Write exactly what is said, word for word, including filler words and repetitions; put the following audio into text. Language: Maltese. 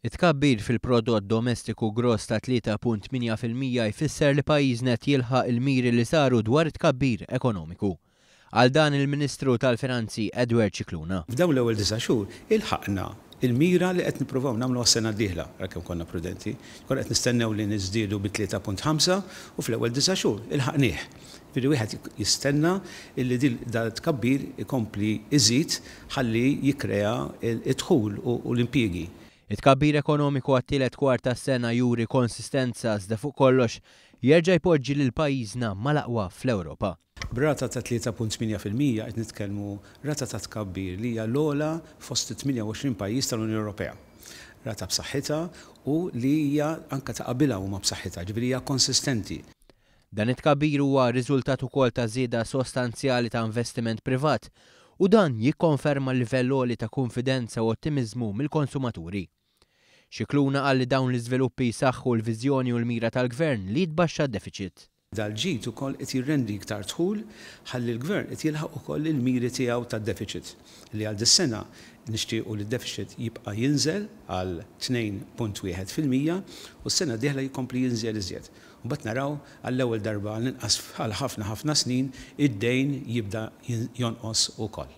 It-tkabbir fil-prodott domestiku gross ta' tlieta punt tmienja fil-mija jfisser li pajjiżna qed jilħaq il-miri li saru dwar it-tkabbir ekonomiku. Għal dan il-Ministru tal-Finanzi Edward Scicluna. F'dawn l-ewwel disa' xhur ilħaqna il-mira li qed nippruvaw nagħmlu għas-sena d-dieħla, ra kemm konna prudenti. Konna qed nistennew li niżdiedu bi tlieta punt ħamsa u fl-ewwel disa' xhur ilħaqnieh. Ġifieri wieħed jistenna illi dil da tkabbir ikompli iżid ħalli jikkrea id-dħul u l-impjiegi. It-tkabbir ekonomiku għat-tielet kwart tas-sena juri konsistenza iżda fuq kollox jerġa' jpoġġi lil pajjiżna mal-aqwa fl-Ewropa. B'rata ta' tlieta punt tmienja fil-mija qed nitkellmu rata ta' tkabbir li hija l-ogħla fost it-tmienja u għoxrin pajjiż tal-Unjoni Ewropea. Rata b'saħħitha u li hija anke ta' qabilha huma b'saħħitha, ġifieri hija konsistenti. Dan it-tkabbir huwa riżultat ukoll ta' żieda sostanzjali ta' investiment privat u dan jikkonferma l-livell għoli ta' konfidenza u ottimiżmu mill-konsumaturi. Scicluna qal li dawn l-iżviluppi jsaħħu l-viżjoni u l-mira tal-gvern li jitbaxxa d-deficit. Dal-ġid ukoll qed jirrendi iktar dħul ħalli l-gvern qed jilħaq ukoll il-miri tiegħu tad-deficit li għal dis-sena nixtiequ li d-deficit jibqa' jinżel għal tnejn punt wieħed fil-mija u s-sena d-dieħla jkompli jinżel iżjed. Mbagħad naraw għall-ewwel darba għall-inqas għal ħafna ħafna snin id-dejn jibda jonqos ukoll.